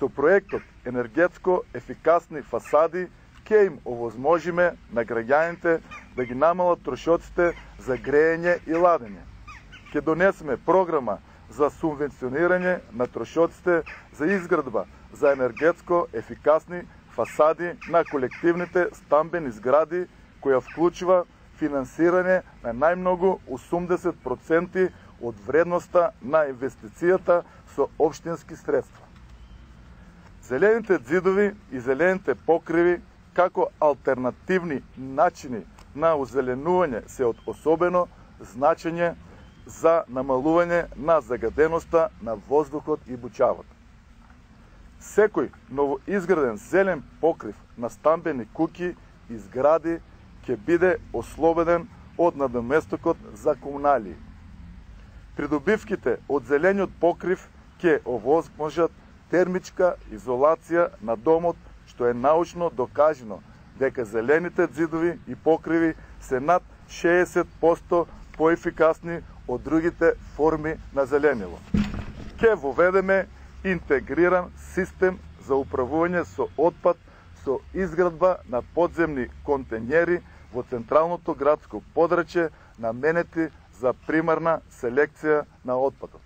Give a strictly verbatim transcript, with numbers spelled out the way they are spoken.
Со проектот енергетско ефикасни фасади ќе им овозможиме на граѓаните да ги намалат трошоците за грејење и ладење. Ќе донесеме програма за субвенционирање на трошоците за изградба за енергетско ефикасни фасади на колективните стамбени згради, која вклучува финансирање на најмногу осумдесет проценти од вредноста на инвестицијата со општински средства. Зелените ѕидови и зелените покриви како алтернативни начини на озеленување се од особено значење за намалување на загаденоста на воздухот и бучавата. Секој новоизграден зелен покрив на стамбени куќи и згради ќе биде ослободен од надоместокот за комуналии. Придобивките од зелениот покрив ќе овозможат термичка изолација на домот, што е научно докажано дека зелените ѕидови и покриви се над шеесет проценти поефикасни од другите форми на зеленило. Ќе воведеме интегриран систем за управување со отпад со изградба на подземни контењери во централното градско подрачје наменети за примарна селекција на отпадот.